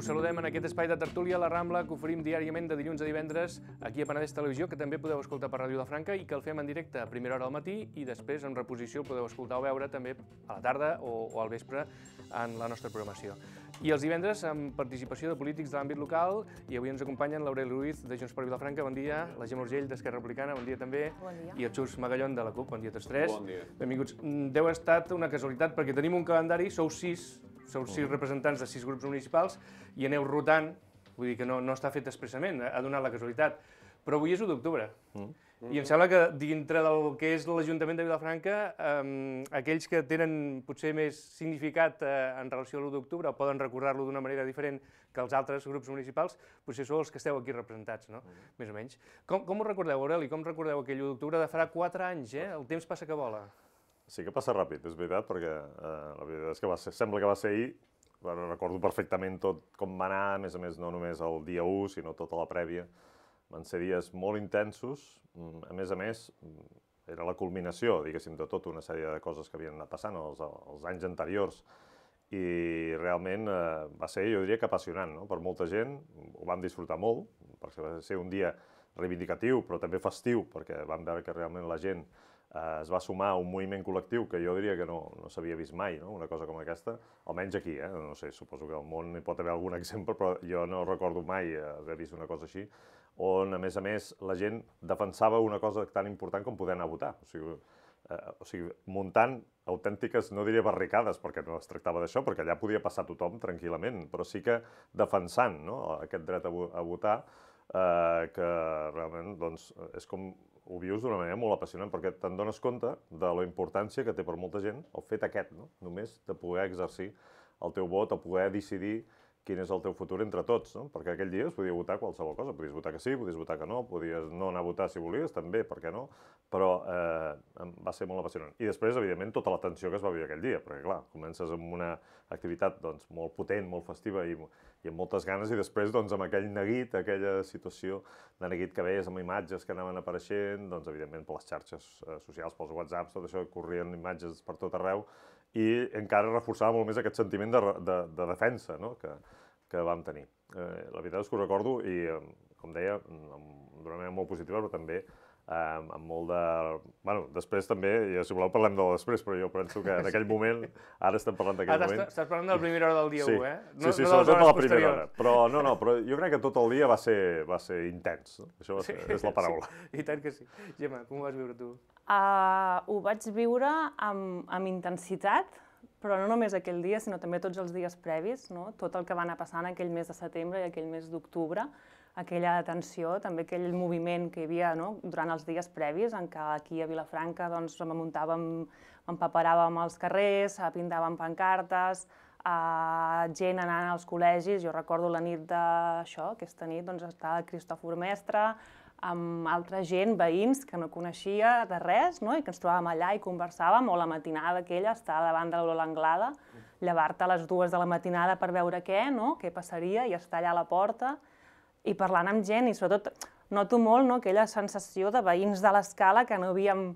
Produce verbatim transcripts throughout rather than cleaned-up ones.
Us saludem en aquest espai de tertúlia a la Rambla que oferim diàriament de dilluns a divendres aquí a Penedès Televisió, que també podeu escoltar per Ràdio Vilafranca i que el fem en directe a primera hora al matí i després en reposició podeu escoltar o veure també a la tarda o, o al vespre en la nostra programació. I els divendres amb participació de polítics de l'àmbit local i avui ens acompanyen l'Aureli Ruiz de Junts per Vilafranca, bon dia, la Gemma Urgell d'Esquerra Republicana, bon dia també, bon dia. I el Xus Magallón de la CUP, bon dia a tots tres. Bon dia. Benvinguts. Deu ha estat una casualitat perquè tenim un calendari, sou sis, sou sis representants de sis grups municipals i aneu rotant, vull dir que no, no està fet expressament, ha donat la casualitat, però avui és u d'octubre. Mm. I em sembla que dintre del que és l'Ajuntament de Vilafranca, eh, aquells que tenen potser més significat eh, en relació a l'u d'octubre o poden recordar-lo d'una manera diferent que els altres grups municipals, potser sou els que esteu aquí representats, no? Mm. Més o menys. Com, com ho recordeu, Aureli? Com recordeu aquell u d'octubre de farà quatre anys, eh? El temps passa que vola. Sí que passa ràpid, és veritat, perquè eh, la veritat és que va ser, sembla que va ser ahir. Bueno, recordo perfectament tot com va anar, a més a més no només el dia u, sinó tota la prèvia. Van ser dies molt intensos, a més a més, era la culminació, diguéssim, de tota una sèrie de coses que havien anat passant els, els anys anteriors i realment eh, va ser, jo diria que apassionant, no? Per molta gent, ho vam disfrutar molt, perquè va ser un dia reivindicatiu, però també festiu, perquè vam veure que realment la gent eh, es va sumar a un moviment col·lectiu que jo diria que no, no s'havia vist mai, no? Una cosa com aquesta, almenys aquí, eh? No sé, suposo que al món hi pot haver algun exemple, però jo no recordo mai haver vist una cosa així, on, a més a més, la gent defensava una cosa tan important com poder anar a votar. O sigui, eh, o sigui, muntant autèntiques, no diria barricades, perquè no es tractava d'això, perquè allà podia passar tothom tranquil·lament, però sí que defensant, no? Aquest dret a, a votar, eh, que realment doncs, és com ho vius d'una manera molt apassionant, perquè te'n dones compte de la importància que té per molta gent el fet aquest, no? Només de poder exercir el teu vot, o poder decidir quin és el teu futur entre tots, no? Perquè aquell dia es podia votar qualsevol cosa, podies votar que sí, podies votar que no, podies no anar a votar si volies, també, per què no? Però eh, va ser molt apassionant. I després, evidentment, tota la tensió que es va viure aquell dia, perquè, clar, comences amb una activitat doncs, molt potent, molt festiva i, i amb moltes ganes, i després, doncs, amb aquell neguit, aquella situació de neguit que veies amb imatges que anaven apareixent, doncs, evidentment, per les xarxes eh, socials, pels whatsapps, tot això, corrien imatges per tot arreu, i encara reforçava molt més aquest sentiment de, de, de defensa, no? que, que vam tenir. Eh, la veritat és que ho recordo i, com deia, d'una manera molt positiva, però també eh, amb molt de... Bueno, després també, i si voleu parlem de després, però jo penso que en aquell moment, ara estem parlant d'aquell Ara moment... estàs parlant de la primera hora del dia sí. u, eh? No, no, sí, sí, no sobretot de la primera posteriors. hora. Però no, no, però jo crec que tot el dia va ser, va ser intens. No? Això va ser, Sí, és la paraula. Sí, i tant que sí. Gemma, com ho vas viure tu? Uh, ho vaig viure amb, amb intensitat, però no només aquell dia, sinó també tots els dies previs, no? Tot el que va anar passant aquell mes de setembre i aquell mes d'octubre, aquella tensió, també aquell moviment que hi havia, no? Durant els dies previs, en què aquí a Vilafranca doncs, muntàvem, empaperàvem als carrers, pintàvem pancartes, uh, gent anant als col·legis. Jo recordo la nit d'això, aquesta nit doncs, estava Cristòfor Mestre, amb altra gent, veïns, que no coneixia de res, no? I que ens trobàvem allà i conversàvem, o la matinada aquella, estar davant de l'Anglada, llevar-te a les dues de la matinada per veure què, no? Què passaria, i estar allà a la porta, i parlant amb gent, i sobretot noto molt no? Aquella sensació de veïns de l'escala que no havíem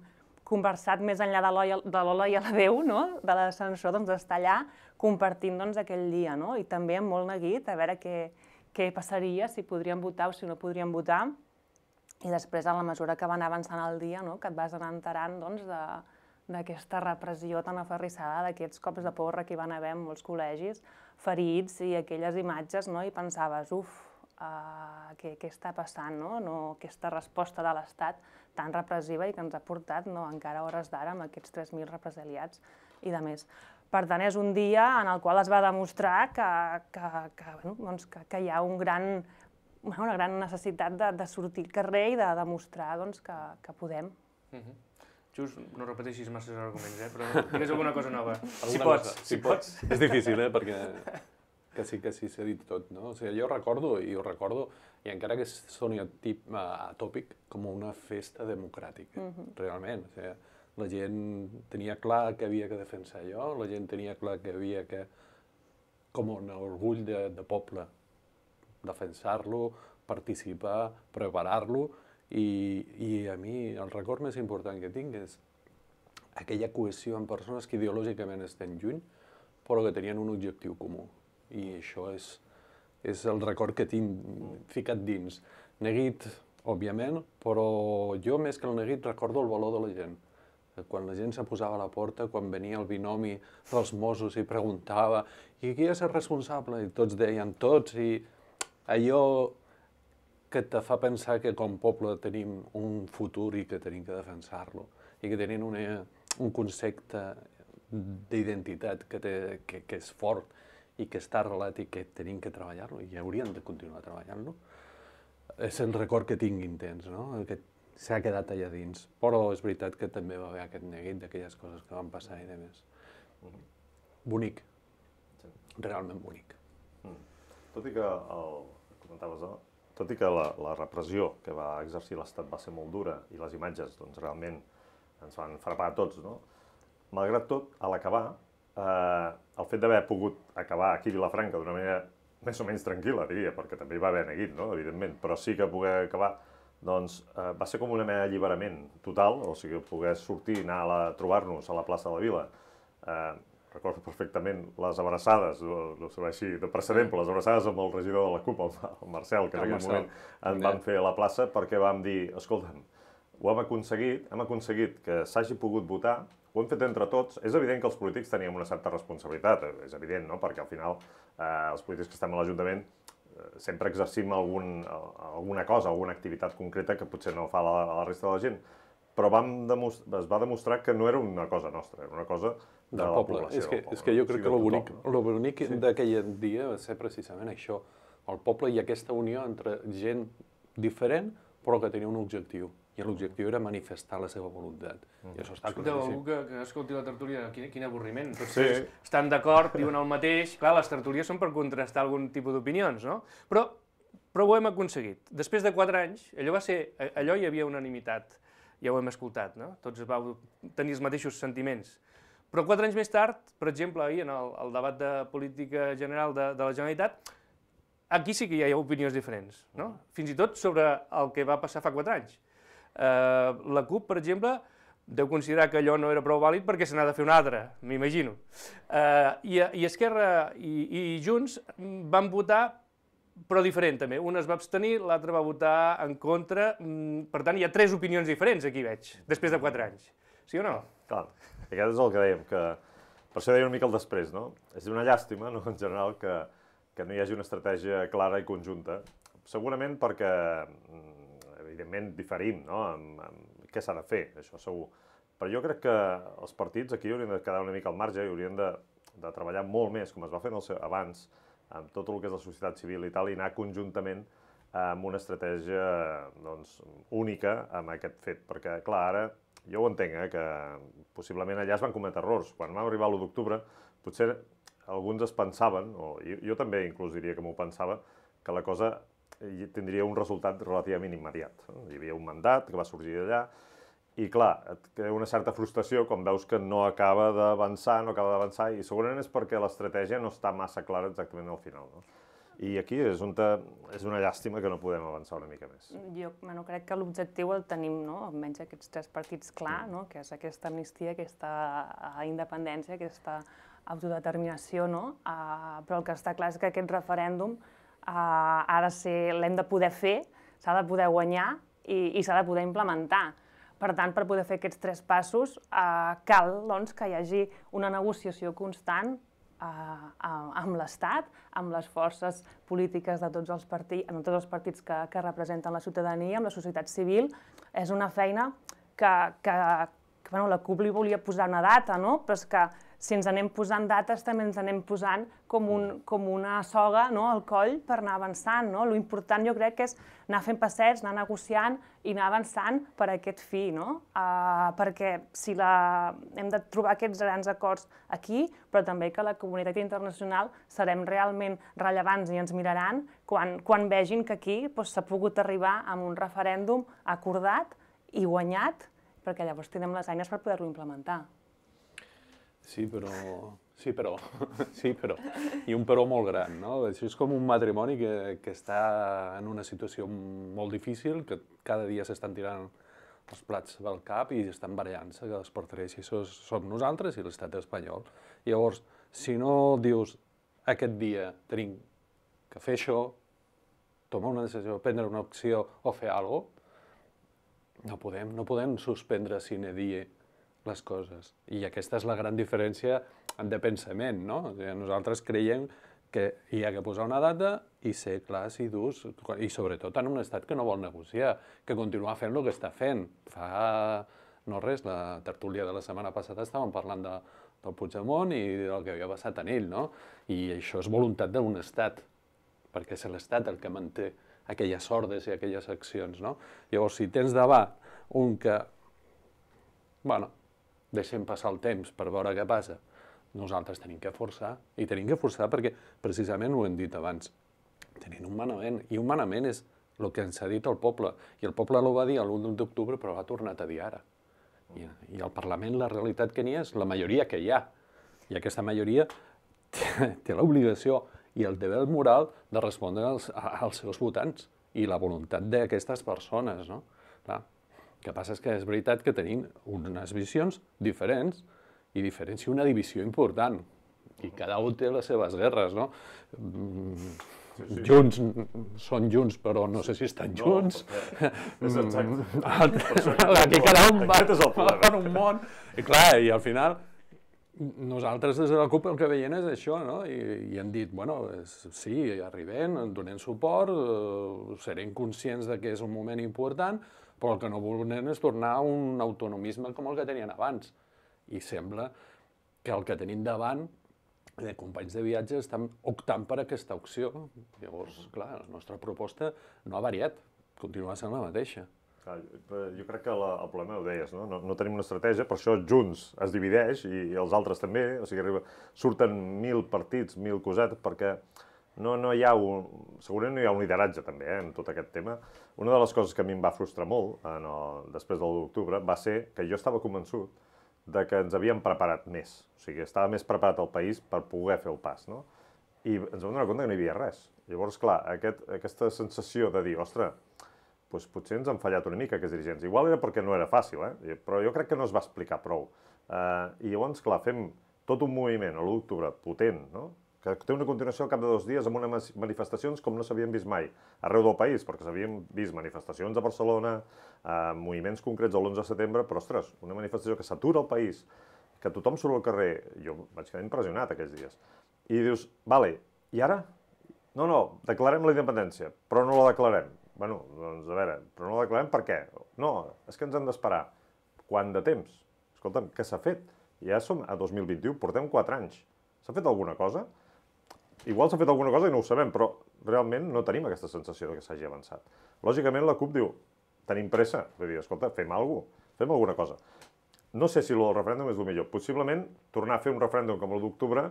conversat més enllà de l'Ola i a la Déu, no? De l'ascensor, doncs, d'estar allà compartint doncs, aquell dia, no? I també amb molt neguit, a veure què, què passaria, si podríem votar o si no podríem votar. I després, a la mesura que va anar avançant el dia, no? Que et vas anar enterant doncs, d'aquesta repressió tan aferrissada, d'aquests cops de porra que hi van haver en molts col·legis, ferits i aquelles imatges, no? I pensaves, uf, uh, què, què està passant, no? No? Aquesta resposta de l'Estat tan repressiva i que ens ha portat no? Encara a hores d'ara amb aquests tres mil represaliats i de més. Per tant, és un dia en el qual es va demostrar que, que, que, bueno, doncs que, que hi ha un gran... una gran necessitat de, de sortir al carrer i de demostrar doncs, que, que podem. Uh-huh. Xus, no repeteixis massa arguments, eh? Però digues alguna cosa nova. Si pots, si pots. És difícil, eh? Perquè que sí que sí s'ha dit tot, no? O sigui, jo recordo, i ho recordo, i encara que soni atòpic, com una festa democràtica, uh-huh. Realment. O sigui, la gent tenia clar que havia que defensar allò, la gent tenia clar que havia que, com un orgull de, de poble, defensar-lo, participar, preparar-lo, i, i a mi el record més important que tinc és aquella cohesió amb persones que ideològicament estan lluny, però que tenien un objectiu comú. I això és, és el record que tinc ficat dins. Neguit, òbviament, però jo més que el neguit recordo el valor de la gent. Quan la gent se posava a la porta, quan venia el binomi dels Mossos i preguntava i qui és el responsable? I tots deien tots, i allò que te fa pensar que com a poble tenim un futur i que tenim que defensar-lo, i que tenim una, un concepte d'identitat que, té, que, que és fort i que està arrelat i que tenim que treballar-lo i hauríem de continuar treballant-lo. És el record que tinc intens, no? Que s'ha quedat allà dins. Però és veritat que també va haver aquest neguit d'aquelles coses que van passar i de més. Bonic. Realment bonic. Tot i que, el, comentaves, no? Tot i que la, la repressió que va exercir l'Estat va ser molt dura i les imatges doncs, realment ens van frapar a tots, no? Malgrat tot, a l'acabar, eh, el fet d'haver pogut acabar aquí a Vilafranca d'una manera més o menys tranquil·la, diria, perquè també hi va haver neguit, no? Evidentment, però sí que poder acabar, doncs eh, va ser com una mena d'alliberament total, o sigui, poder sortir, anar a, la, a trobar-nos a la plaça de la Vila. Eh, recordo perfectament les abraçades, no, no serveix així de precedent, però les abraçades amb el regidor de la CUP, el, el Marcel, que en aquell moment en vam fer a la plaça, perquè vam dir, escolta'm, ho hem aconseguit, hem aconseguit que s'hagi pogut votar, ho hem fet entre tots. És evident que els polítics teníem una certa responsabilitat, és evident, no? Perquè al final eh, els polítics que estem a l'Ajuntament eh, sempre exercim algun, alguna cosa, alguna activitat concreta que potser no fa la, la resta de la gent, però vam es va demostrar que no era una cosa nostra, era una cosa de del la poble. població. És que, del poble. és que jo crec Sí, que de el bonic, tothom, no? lo bonic Sí. d'aquell dia va ser precisament això, el poble i aquesta unió entre gent diferent però que tenia un objectiu. I l'objectiu era manifestar la seva voluntat. Mm. I això està Escolteu, claríssim. algú que, que escolti la tertúlia, quin, quin avorriment. Tots Sí. tres estan d'acord, diuen el mateix. Clar, les tertúlies són per contrastar algun tipus d'opinions, no? Però, però ho hem aconseguit. Després de quatre anys, allò va ser, allò hi havia unanimitat, ja ho hem escoltat, no? Tots vau tenir els mateixos sentiments. Però quatre anys més tard, per exemple, ahir en el, el debat de política general de, de la Generalitat, aquí sí que hi ha opinions diferents, no? Fins i tot sobre el que va passar fa quatre anys. Uh, la CUP, per exemple, deu considerar que allò no era prou vàlid perquè se n'ha de fer un altre, m'imagino. Uh, i, I Esquerra i, i Junts van votar, però diferent també. Un es va abstenir, l'altre va votar en contra. Per tant, hi ha tres opinions diferents aquí, veig, després de quatre anys. Sí o no? Clar, aquest és el que dèiem, que per això deia una mica el després, no? És una llàstima, no?, en general, que, que no hi hagi una estratègia clara i conjunta. Segurament perquè evidentment diferim, no?, amb, amb què s'ha de fer, això segur. Però jo crec que els partits aquí haurien de quedar una mica al marge i haurien de, de treballar molt més, com es va fer el seu, abans, amb tot el que és la societat civil i tal, i anar conjuntament amb una estratègia doncs, única amb aquest fet. Perquè, clar, ara, jo ho entenc, eh, que possiblement allà es van cometre errors. Quan vam arribar l'u d'octubre, potser alguns es pensaven, o jo, jo també inclús diria que m'ho pensava, que la cosa tindria un resultat relativament immediat. Hi havia un mandat que va sorgir d'allà i, clar, et crea una certa frustració quan veus que no acaba d'avançar, no acaba d'avançar, i segurament és perquè l'estratègia no està massa clara exactament al final, no? I aquí és on te, és una llàstima que no podem avançar una mica més. Jo bueno, crec que l'objectiu el tenim, no?, almenys aquests tres partits clar, no?, que és aquesta amnistia, aquesta independència, aquesta autodeterminació, no? Uh, però el que està clar és que aquest referèndum uh, ha de ser, l'hem de poder fer, s'ha de poder guanyar i, i s'ha de poder implementar. Per tant, per poder fer aquests tres passos, uh, cal doncs, que hi hagi una negociació constant Uh, amb l'Estat, amb les forces polítiques de tots els partits, amb tots els partits que, que representen la ciutadania, amb la societat civil. És una feina que, que, que bueno, la CUP li volia posar una data, no? Però és que si ens anem posant dates també ens anem posant com, un, com una soga, no?, al coll per anar avançant, no? Lo important jo crec que és anar fent passets, anar negociant i anar avançant per aquest fi, no? Uh, perquè si la... hem de trobar aquests grans acords aquí, però també que la comunitat internacional serem realment rellevants i ens miraran quan, quan vegin que aquí doncs, s'ha pogut arribar a un referèndum acordat i guanyat, perquè llavors tindrem les eines per poder-lo implementar. Sí, però... Sí, però... Sí, però... I un però molt gran, no? Això és com un matrimoni que, que està en una situació molt difícil, que cada dia s'estan tirant els plats del cap i estan barallant-se, que els per tres, i això som nosaltres i l'estat espanyol. Llavors, si no dius aquest dia tenim que fer això, tomar una decisió, prendre una opció o fer alguna cosa, no podem, no podem suspendre sine die les coses. I aquesta és la gran diferència de pensament, no? O sigui, nosaltres creiem que hi ha que posar una data i ser clars i durs, i sobretot en un estat que no vol negociar, que continua fent el que està fent. Fa no res, la tertúlia de la setmana passada estàvem parlant de, del Puigdemont i del que havia passat en ell, no? I això és voluntat d'un estat, perquè és l'estat el que manté aquelles ordres i aquelles accions, no? Llavors, si tens davant un que, bueno, deixem passar el temps per veure què passa, nosaltres tenim que forçar, i tenim que forçar perquè, precisament ho hem dit abans, tenim un manament, i un manament és el que ens ha dit el poble, i el poble ho va dir l'u d'octubre, però l'ha tornat a dir ara. I, I al Parlament la realitat que n'hi ha és la majoria que hi ha, i aquesta majoria té, té l'obligació i el deber moral de respondre als, als seus votants i la voluntat d'aquestes persones, no? Clar, el que passa és que és veritat que tenim unes visions diferents i diferents i una divisió important. I cada un té les seves guerres, no? Sí, sí. Junts són junts, però no sé si estan junts. No, és exacte. Aquí cada un va per un món. I clar, i al final nosaltres des de la CUP el que veiem és això, no? I, i hem dit, bueno, és, sí, arribem, donem suport, eh, serem conscients de que és un moment important, però el que no volem és tornar a un autonomisme com el que tenien abans. I sembla que el que tenim davant de companys de viatge estan optant per aquesta opció. Llavors, clar, la nostra proposta no ha variat, continua sent la mateixa. Clar, jo crec que la, el problema ho deies, no? No, no tenim una estratègia, per això Junts es divideix i, i els altres també, o sigui, arriba, surten mil partits, mil cosetes, perquè no, no hi ha un, segurament no hi ha un lideratge també eh, en tot aquest tema. Una de les coses que a mi em va frustrar molt en el, després del l'u d'octubre va ser que jo estava convençut de que ens havíem preparat més, o sigui, estava més preparat el país per poder fer el pas, no? I ens vam donar compte que no hi havia res. Llavors, clar, aquest, aquesta sensació de dir, ostres, doncs potser ens han fallat una mica aquests dirigents. Igual era perquè no era fàcil, eh? Però jo crec que no es va explicar prou. Uh, I llavors, clar, fem tot un moviment a l'u d'octubre potent, no? Que té una continuació al cap de dos dies amb unes manifestacions com no s'havien vist mai arreu del país, perquè s'havien vist manifestacions a Barcelona, eh, moviments concrets de l'onze de setembre, però, ostres, una manifestació que s'atura al país, que tothom surt al carrer, jo vaig quedar impressionat aquells dies. I dius, vale, i ara? No, no, declarem la independència, però no la declarem. Bueno, doncs, a veure, però no la declarem per què? No, és que ens hem d'esperar. Quant de temps? Escolta'm, què s'ha fet? Ja som a dos mil vint-i-u, portem quatre anys. S'ha fet alguna cosa? Igual s'ha fet alguna cosa i no ho sabem, però realment no tenim aquesta sensació que s'hagi avançat. Lògicament la CUP diu, tenim pressa, vull dir, escolta, fem alguna cosa, fem alguna cosa. No sé si el referèndum és el millor. Possiblement, tornar a fer un referèndum com el d'octubre,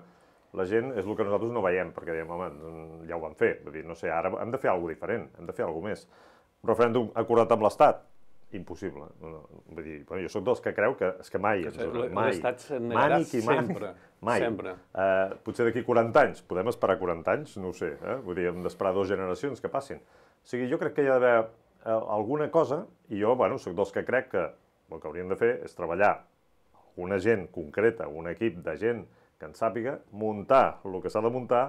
la gent és el que nosaltres no veiem, perquè diem, home, ja ho vam fer. Vull dir, no sé, ara hem de fer alguna cosa diferent, hem de fer alguna cosa més. Un referèndum acordat amb l'Estat? Impossible. No, vull dir, bueno, jo soc dels que creu que és que mai, mai, l'Estat se'n negarà sempre, mai. sempre. Uh, potser d'aquí quaranta anys, podem esperar quaranta anys? No ho sé, eh? Vull dir, hem d'esperar dues generacions que passin. O sigui, jo crec que hi ha d'haver uh, alguna cosa, i jo, bueno, soc dels que crec que el que hauríem de fer és treballar una gent concreta, un equip de gent que en sàpiga, muntar el que s'ha de muntar,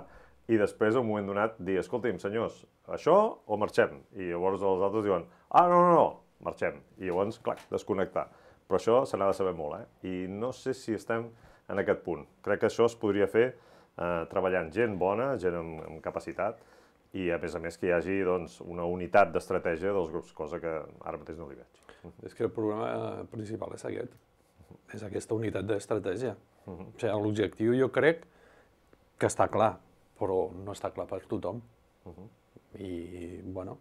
i després, en un moment donat, dir, escolti'm, senyors, això o marxem? I llavors els altres diuen, ah, no, no, no, marxem. I llavors, clar, desconnectar. Però això se n'ha de saber molt, eh? I no sé si estem en aquest punt. Crec que això es podria fer eh, treballant gent bona, gent amb, amb capacitat, i a més a més que hi hagi doncs, una unitat d'estratègia dels grups, cosa que ara mateix no li veig. És que el problema principal és aquest, és aquesta unitat d'estratègia. Uh -huh. O sigui, l'objectiu jo crec que està clar, però no està clar per tothom. Uh -huh. I, bueno,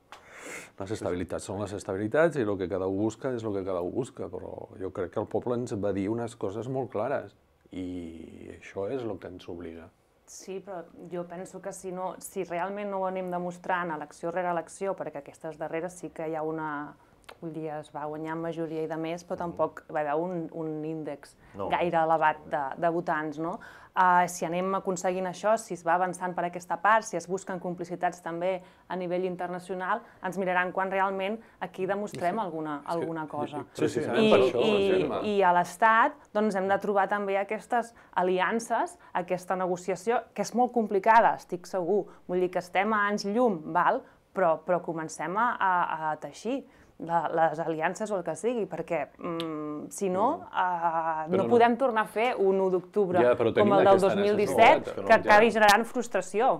les estabilitats són les estabilitats i el que cada un busca és el que cada un busca, però jo crec que el poble ens va dir unes coses molt clares i això és el que ens obliga. Sí, però jo penso que si, no, si realment no ho anem demostrant elecció rere elecció, perquè aquestes darreres sí que hi ha una, vull dir, es va guanyar amb majoria i de més, però tampoc va haver un, un índex No. gaire elevat de, de votants, no? Uh, si anem aconseguint això, si es va avançant per aquesta part, si es busquen complicitats també a nivell internacional, ens miraran quan realment aquí demostrem alguna, alguna cosa. Sí, sí, I, per això, i, Gemma. I a l'Estat doncs, hem de trobar també aquestes aliances, aquesta negociació, que és molt complicada, estic segur. Vull dir que estem a anys llum, val? Però, però comencem a, a, a teixir la, les aliances o el que sigui, perquè mm, si no, uh, no, no podem tornar a fer un u d'octubre Ja, però com tenim el del aquesta dos mil disset, necessitat, que no, que ja. acabi generant frustració.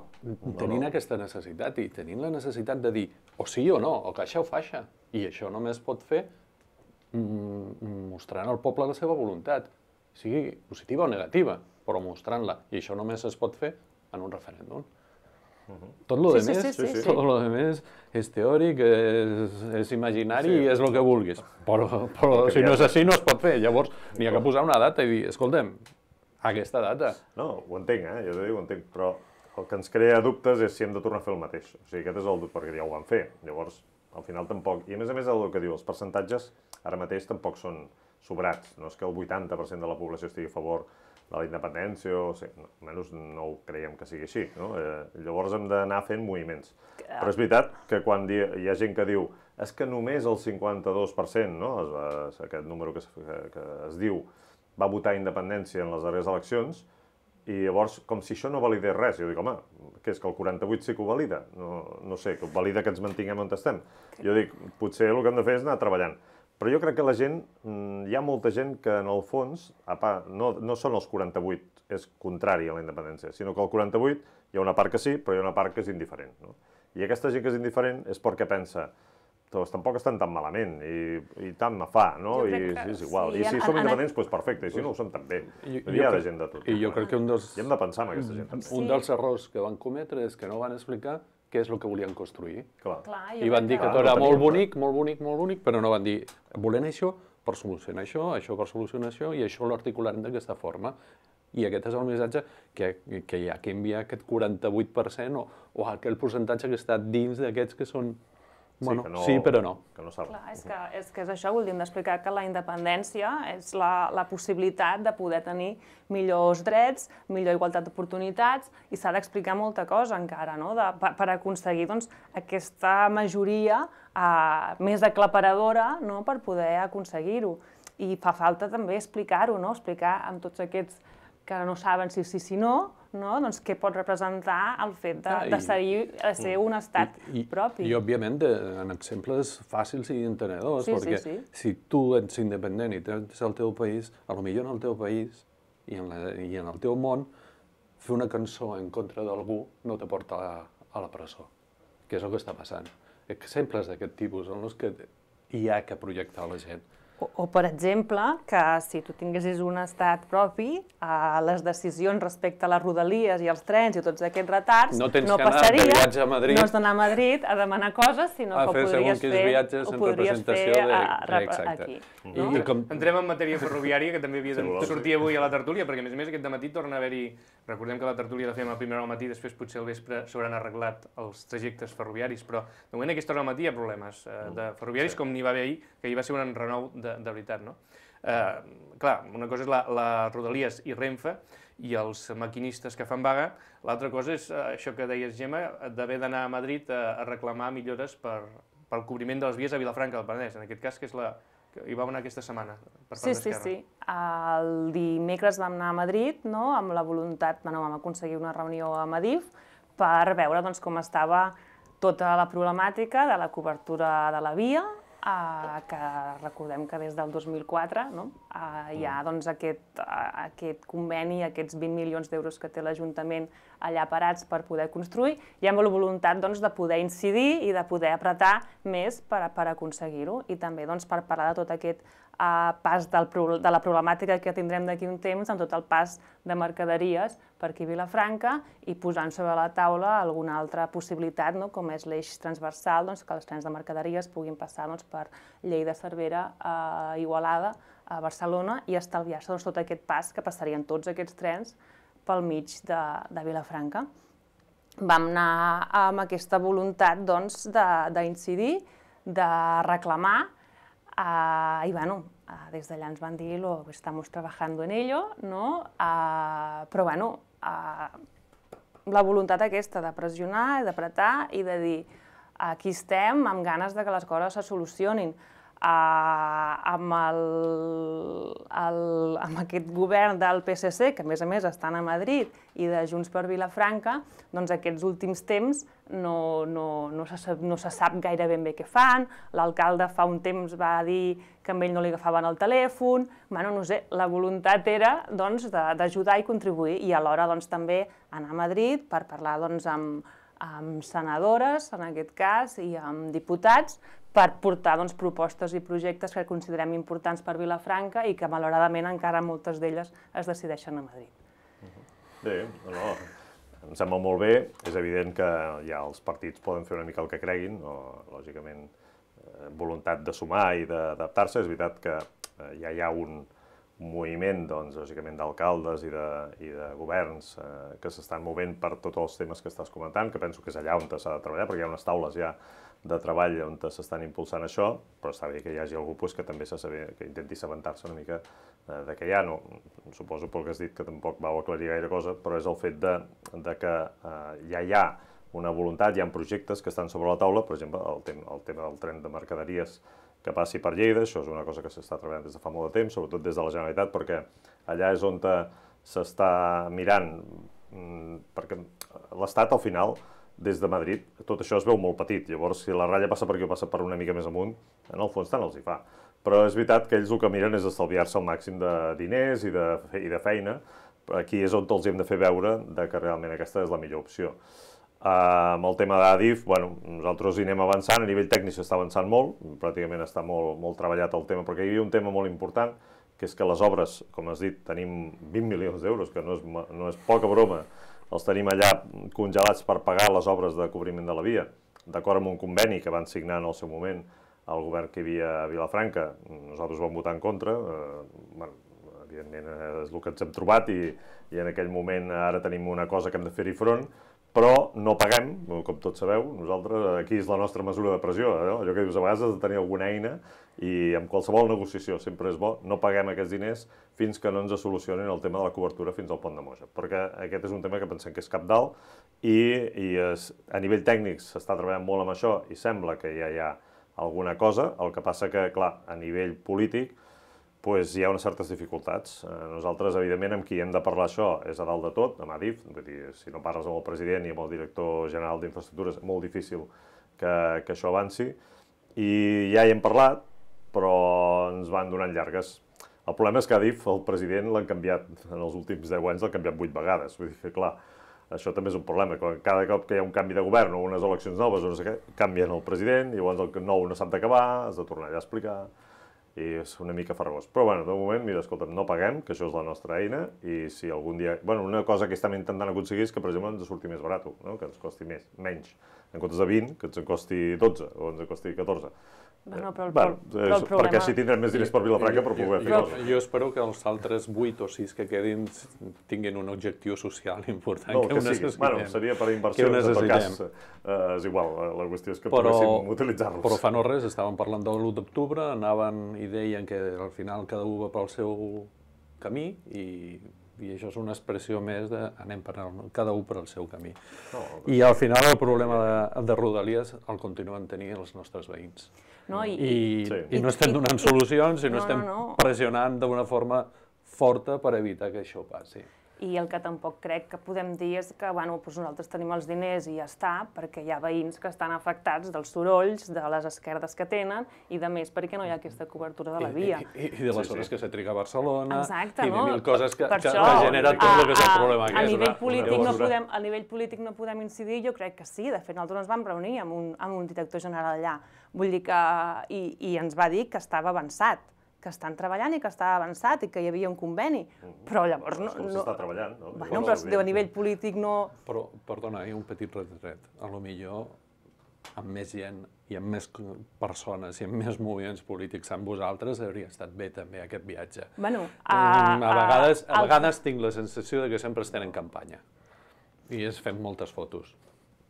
Tenint aquesta necessitat i tenint la necessitat de dir o sí o no, o caixa o faixa. I això només pot fer mm, mostrant al poble la seva voluntat, sigui positiva o negativa, però mostrant-la. I això només es pot fer en un referèndum. Tot lo Sí, demés, sí, sí, sí, sí. tot lo demés és teòric, és, és imaginari Sí. i és el que vulguis. Però, però El que si no hi és ha- així no es pot fer. Llavors, n'hi ha que posar una data i dir, escolta'm, aquesta data. No, ho entenc, eh? Jo t'ho dic, ho entenc, però el que ens crea dubtes és si hem de tornar a fer el mateix. O sigui, aquest és el dubte, perquè ja ho van fer. Llavors, al final tampoc... I a més a més, el que diu, els percentatges ara mateix tampoc són sobrats. No és que el vuitanta per cent de la població estigui a favor de la independència, o sí, no, almenys no ho creiem que sigui així. No? Eh, llavors hem d'anar fent moviments. Però és veritat que quan di hi ha gent que diu és que només el cinquanta-dos per cent, no? es, es, aquest número que es, que, que es diu, va votar independència en les darreres eleccions, i llavors, com si això no validés res. Jo dic, home, què és, que el quaranta-vuit sí que ho valida? No, no sé, que ho valida que ens mantinguem on estem. Jo dic, potser el que hem de fer és anar treballant. Però jo crec que la gent, hi ha molta gent que en el fons, no, no són els quaranta-vuit, és contrari a la independència, sinó que el quaranta-vuit hi ha una part que sí, però hi ha una part que és indiferent. No? I aquesta gent que és indiferent és perquè pensa, doncs tampoc estan tan malament i, i tant me fa, no? Jo I crec que és igual. sí, I si en- som en- independents, doncs perfecte, i si no ho som també. I- Hi ha jo de crec- gent de tot. I jo crec que un dels, I hem de pensar en aquesta gent també. un dels errors que van cometre és que no van explicar què és el que volien construir. Clar. Clar, I van dir que Clar, tot no era teníem molt clar. bonic, molt bonic, molt bonic, però no van dir, volem això per solucionar això, això per solucionar això, i això ho articularem d'aquesta forma. I aquest és el missatge que, que hi ha que enviar aquest quaranta-vuit per cent o, o aquell percentatge que està dins d'aquests que són, bueno, que no, sí, però no. Que no saben. Clar, és que, és que és això, vull dir, hem d'explicar que la independència és la, la possibilitat de poder tenir millors drets, millor igualtat d'oportunitats, i s'ha d'explicar molta cosa encara, no? De, per, per aconseguir doncs, aquesta majoria eh, més aclaparadora, no? Per poder aconseguir-ho. I fa falta també explicar-ho, no? Explicar amb tots aquests que no saben si sí, si no, no? Doncs què pot representar el fet de, Ah, i- de, ser, de ser un estat I, i, propi. I, òbviament, de, en exemples fàcils i entenedors, Sí, sí, perquè sí. si tu ets independent i tens el teu país, a lo millor en el teu país i en, la, i en el teu món, fer una cançó en contra d'algú no te porta a, a la presó, que és el que està passant. Exemples d'aquest tipus en els que hi ha que projectar la gent. O, o, per exemple, que si tu tinguessis un estat propi, eh, les decisions respecte a les rodalies i els trens i tots aquests retards No tens no que anar de passaria, viatge a Madrid. no has d'anar a Madrid a demanar coses, sinó A que ho fer podries segons quins fer, viatges ho en podries representació fer de- a, a, exacte. aquí. I, No? i com, Entrem en matèria ferroviària, que també havia de Si voleu, sortir avui a la tertúlia, perquè a més a més aquest dematí torna a haver-hi... Recordem que la tertúlia la fem a primera hora al matí, després potser al vespre s'hauran arreglat els trajectes ferroviaris, però de moment a aquesta hora al matí hi ha problemes eh, de ferroviaris, Sí. com n'hi va haver ahir, que hi va ser un enrenou de, de veritat, no? Eh, clar, una cosa és la, la Rodalies i Renfe i els maquinistes que fan vaga, l'altra cosa és eh, això que deies, Gemma, d'haver d'anar a Madrid a, a reclamar millores per, pel cobriment de les vies a Vilafranca del Penedès, en aquest cas, que és la que hi va anar aquesta setmana per part Sí, sí, d'Esquerra. sí. El dimecres vam anar a Madrid, no? Amb la voluntat, bueno, vam aconseguir una reunió a Madif per veure doncs, com estava tota la problemàtica de la cobertura de la via, eh, que recordem que des del dos mil quatre no? eh, hi ha doncs, aquest, eh, aquest conveni, aquests vint milions d'euros que té l'Ajuntament allà parats per poder construir, i amb la voluntat doncs, de poder incidir i de poder apretar més per, per aconseguir-ho, i també doncs, per parlar de tot aquest eh, pas del, de la problemàtica que tindrem d'aquí un temps, amb tot el pas de mercaderies per aquí a Vilafranca, i posant sobre la taula alguna altra possibilitat, no? Com és l'eix transversal, doncs, que els trens de mercaderies puguin passar doncs, per Lleida, Cervera, a Igualada, a Barcelona, i estalviar-se doncs, tot aquest pas que passarien tots aquests trens pel mig de, de Vilafranca. Vam anar amb aquesta voluntat doncs, de- d'incidir, de reclamar Uh, I bueno, uh, des d'allà ens van dir lo estamos trabajando en ello, no? Uh, però bueno, uh, la voluntat aquesta de pressionar, d'apretar i de dir aquí estem amb ganes de que les coses se solucionin. Uh, amb, el, el, amb aquest govern del P S C, que a més a més estan a Madrid, i de Junts per Vilafranca, doncs aquests últims temps no, no, no, se, no se sap gaire ben bé què fan. L'alcalde fa un temps va dir que a ell no li agafaven el telèfon. Bueno, no sé, la voluntat era doncs, d'ajudar i contribuir, i alhora doncs, també anar a Madrid per parlar doncs, amb, amb senadores, en aquest cas, i amb diputats, per portar doncs, propostes i projectes que considerem importants per Vilafranca i que, malauradament, encara moltes d'elles es decideixen a Madrid. Bé, no, em sembla molt bé. És evident que ja els partits poden fer una mica el que creguin, o, lògicament, eh, voluntat de sumar i d'adaptar-se. És veritat que eh, ja hi ha un moviment, doncs, lògicament, d'alcaldes i, de, i de governs eh, que s'estan movent per tots els temes que estàs comentant, que penso que és allà on s'ha de treballar, perquè hi ha unes taules ja de treball on s'estan impulsant això, però està bé que hi hagi algú pues, que també se saber, que intenti assabentar-se una mica eh, de què hi ha. No, suposo pel que has dit que tampoc vau aclarir gaire cosa, però és el fet de, de que eh, ja hi ha una voluntat, hi ha projectes que estan sobre la taula, per exemple, el, tem el tema del tren de mercaderies que passi per Lleida, això és una cosa que s'està treballant des de fa molt de temps, sobretot des de la Generalitat, perquè allà és on s'està mirant, perquè l'Estat, al final, des de Madrid, tot això es veu molt petit. Llavors, si la ratlla passa per aquí o passa per una mica més amunt, en el fons tant els hi fa. Però és veritat que ells el que miren és estalviar-se el màxim de diners i de, i de feina. Aquí és on els hem de fer veure de que realment aquesta és la millor opció. Uh, amb el tema d'Adif, bueno, nosaltres hi anem avançant, a nivell tècnic s'està avançant molt, pràcticament està molt, molt treballat el tema, perquè hi havia un tema molt important, que és que les obres, com has dit, tenim vint milions d'euros, que no és, no és poca broma, els tenim allà congelats per pagar les obres de cobriment de la via, d'acord amb un conveni que van signar en el seu moment el govern que hi havia a Vilafranca. Nosaltres vam votar en contra, eh, bueno, evidentment és el que ens hem trobat i, i en aquell moment ara tenim una cosa que hem de fer-hi front, però no paguem, com tots sabeu, nosaltres, aquí és la nostra mesura de pressió, no? Allò que dius, a vegades has de tenir alguna eina i amb qualsevol negociació sempre és bo, no paguem aquests diners fins que no ens solucionin el tema de la cobertura fins al pont de Moja, perquè aquest és un tema que pensem que és cabdal i, i es, a nivell tècnic s'està treballant molt amb això i sembla que ja hi ha alguna cosa, el que passa que, clar, a nivell polític, pues hi ha unes certes dificultats. Nosaltres, evidentment, amb qui hem de parlar això és a dalt de tot, amb Adif, vull dir, si no parles amb el president i amb el director general d'Infraestructures, és molt difícil que, que això avanci. I ja hi hem parlat, però ens van donant llargues. El problema és que Adif, el president, l'han canviat, en els últims deu anys l'han canviat vuit vegades. Vull dir que, clar, això també és un problema. Cada cop que hi ha un canvi de govern o unes eleccions noves o no sé què, canvien el president, i llavors el nou no sap d'acabar, has de tornar allà a explicar, i és una mica farragós. Però, bueno, de moment, mira, escolta'm, no paguem, que això és la nostra eina, i si algun dia... Bueno, una cosa que estem intentant aconseguir és que, per exemple, ens surti més barat, no? Que ens costi més, menys. En comptes de vint, que ens en costi dotze o ens en costi catorze. Bueno, però el, bueno, però el problema... Perquè així tindrem més diners per Vilafranca per poder fer coses. Jo espero que els altres vuit o sis que quedin tinguin un objectiu social important no, que, que ho necessitem. Bueno, seria per inversions, en tot cas, eh, és igual, la qüestió és que però, poguéssim utilitzar-los. Però fa no res, estàvem parlant de l'u d'octubre, anaven i deien que al final cada un va pel seu camí i, i això és una expressió més de anem per el, cada un per al seu camí. No, I al final el problema de, de Rodalies el continuen tenint els nostres veïns. No, i, I, sí. i no estem donant solucions i no, no estem no, no. pressionant d'una forma forta per evitar que això passi. I el que tampoc crec que podem dir és que bueno, doncs nosaltres tenim els diners i ja està, perquè hi ha veïns que estan afectats dels sorolls, de les esquerdes que tenen i de més perquè no hi ha aquesta cobertura de la via. I, i, i de les hores sí, sí. que se triga a Barcelona. Exacte, i de no? mil coses que, per que això, ha generat tot el que és el problema. A, a, nivell una, polític una no podem, a nivell polític no podem incidir, jo crec que sí. De fet, nosaltres ens vam reunir amb un, amb un director general allà. Vull dir que... I, i ens va dir que estava avançat, que estan treballant i que estava avançat i que hi havia un conveni, però llavors no... no s'està treballant, no? Bueno, però a nivell polític no... Però, perdona, hi ha un petit retret. A lo millor amb més gent i amb més persones i amb més moviments polítics amb vosaltres hauria estat bé també aquest viatge. Bueno, a, a, vegades, a vegades tinc la sensació de que sempre estem en campanya i es fem moltes fotos.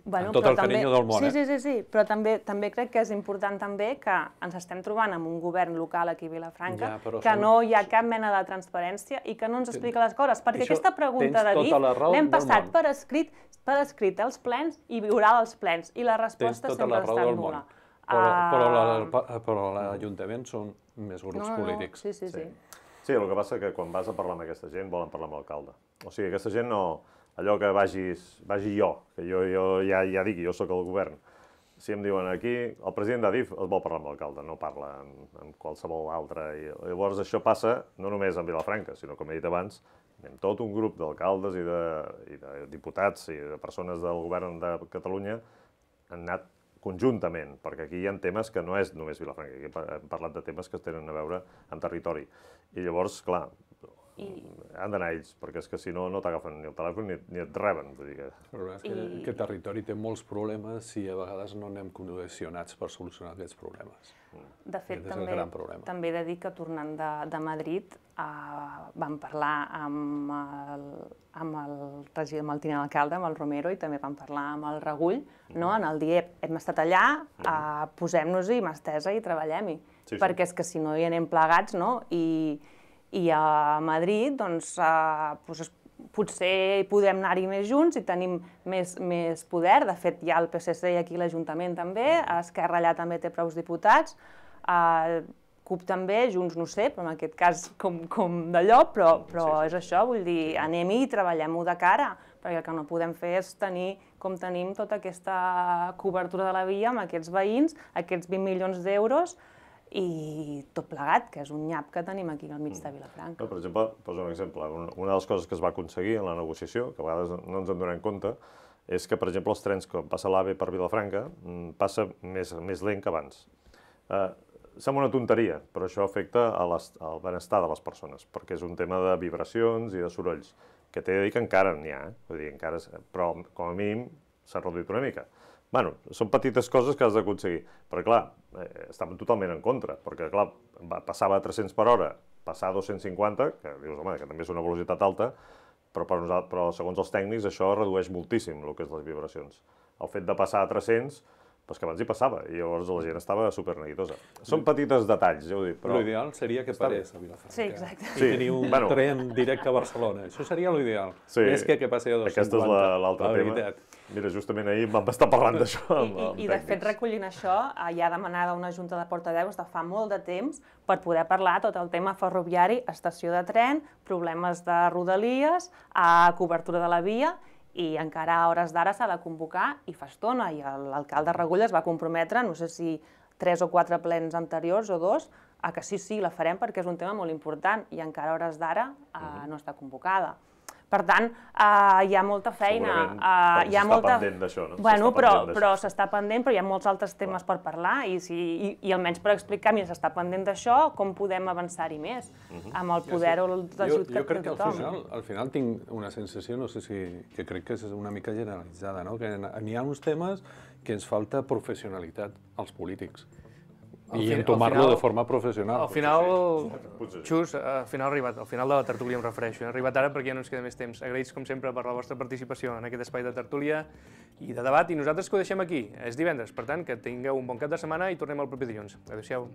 Bueno, amb tot però el també- carinyo del món, sí, eh? Sí, sí, sí, però també, també crec que és important també que ens estem trobant amb un govern local aquí a Vilafranca Ja, però que són- no hi ha cap mena de transparència i que no ens explica les coses, perquè Això aquesta pregunta tens de tota la D I F raó l'hem del passat món. per escrit, per escrit als plens i viurà als plens, i la Tens resposta tota sempre la ha raó estat del món. nul·la. Però, però, la, Ah, però l'Ajuntament són més grups no, no, no, polítics. sí, sí, sí. Sí, el que passa és que quan vas a parlar amb aquesta gent volen parlar amb l'alcalde. O sigui, aquesta gent no... Allò que vagis, vagi jo, que jo, jo ja, ja dic, jo sóc el govern. Si em diuen aquí, el president de D I F es vol parlar amb l'alcalde, no parla amb, amb qualsevol altre. I llavors això passa no només en Vilafranca, sinó, com he dit abans, amb tot un grup d'alcaldes i, de, i de diputats i de persones del govern de Catalunya han anat conjuntament, perquè aquí hi ha temes que no és només Vilafranca, aquí hem parlat de temes que tenen a veure amb territori. I llavors, clar, I- han d'anar ells, perquè és que si no, no t'agafen ni el telèfon ni, ni et reben. Vull dir que... El problema és que, I- que territori té molts problemes i a vegades no anem cohesionats per solucionar aquests problemes. De fet, Aquest és el també, gran problema. també he de dir que tornant de, de Madrid eh, vam parlar amb el, amb el regidor, amb el tinent alcalde, amb el Romero, i també vam parlar amb el Regull, no? En el D I E P hem estat allà, eh, posem-nos-hi, mà estesa i treballem-hi. Sí, sí. Perquè és que si no hi anem plegats, no? I, i a Madrid, doncs, eh, doncs potser podem anar-hi més junts i tenim més, més poder. De fet, hi ha el P S C i aquí l'Ajuntament també, Esquerra allà també té prou diputats, eh, CUP també, Junts no sé, però en aquest cas com, com d'allò, però, però Sí, sí. és això, vull dir, anem-hi i treballem-ho de cara, perquè el que no podem fer és tenir, com tenim, tota aquesta cobertura de la via amb aquests veïns, aquests vint milions d'euros, i tot plegat, que és un nyap que tenim aquí al mig de Vilafranca. No, per exemple, poso un exemple. Un- Una de les coses que es va aconseguir en la negociació, que a vegades no ens en donem compte, és que, per exemple, els trens, quan passa l'AVE per Vilafranca, mm, passa més, més lent que abans. Eh, sembla una tonteria, però això afecta a les, al benestar de les persones, perquè és un tema de vibracions i de sorolls, que t'he de dir que encara n'hi ha, eh? Vull dir, encara és, però com a mínim s'ha reduït una mica. Bueno, són petites coses que has d'aconseguir, però clar, eh, estàvem totalment en contra, perquè clar, va, passava a tres-cents per hora, passar a dos-cents cinquanta, que dius, home, que també és una velocitat alta, però, per nosaltres, però segons els tècnics això redueix moltíssim el que és les vibracions. El fet de passar a tres-cents, doncs que abans hi passava, i llavors la gent estava superneguitosa. Són petites detalls, ja ho dic, però... L'ideal seria que Està bé. parés a Vilafranca. Sí, exacte. I Sí, tenir un bueno. tren directe a Barcelona. Això seria l'ideal. Sí, Més que que passi a dos cents aquest és cinquanta. la- l'altre la tema. veritat. Mira, justament ahir vam estar parlant d'això I, amb, amb i, I, de fet, tècnics. recollint això, eh, hi ha demanada una junta de portaveus de fa molt de temps per poder parlar tot el tema ferroviari, estació de tren, problemes de rodalies, a cobertura de la via, i encara a hores d'ara s'ha de convocar, i fa estona, i l'alcalde Regull es va comprometre, no sé si tres o quatre plens anteriors o dos, a que sí, sí, la farem perquè és un tema molt important, i encara a hores d'ara eh, no està convocada. Per tant, eh, hi ha molta feina. Segurament eh, perquè hi ha s'està molta... pendent d'això, no? Bueno, S'està però, pendent d'això. però s'està pendent, però hi ha molts altres temes per parlar i, si, i, i almenys per explicar, mira, s'està pendent d'això, com podem avançar-hi més amb el poder o Jo, l'ajut jo crec de que al tothom. final, al final tinc una sensació, no sé si, que crec que és una mica generalitzada, no? Que n'hi ha uns temes que ens falta professionalitat als polítics. Al I fin- al entomar-lo final- de forma professional. Al final, Potser sí. Xus, al final ha arribat, al final de la tertúlia em refereixo. Hem arribat ara perquè ja no ens queda més temps. Agraïts, com sempre, per la vostra participació en aquest espai de tertúlia i de debat, i nosaltres que ho deixem aquí. És divendres, per tant, que tingueu un bon cap de setmana i tornem el proper dilluns. Adéu-siau.